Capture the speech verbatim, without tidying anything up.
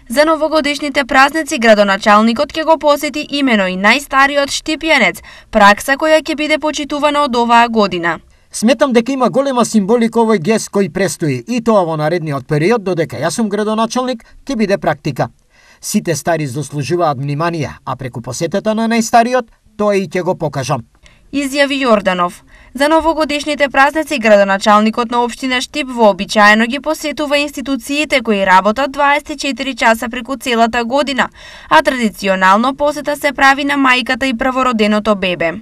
За новогодишните празници градоначалникот ќе го посети имено и најстариот Штипјанец, пракса која ќе биде почитувана од оваа година. Сметам дека има голема символика овој гест кој престои и тоа во наредниот период, додека јас сум градоначалник, ќе биде практика. Сите стари заслужуваат внимание, а преку посетата на најстариот, тоа и ќе го покажам. Изјави Јорданов. За новогодишните празници градоначалникот на општина Штип вообичаено ги посетува институциите кои работат дваесет и четири часа преку целата година, а традиционално посета се прави на мајката и првороденото бебе.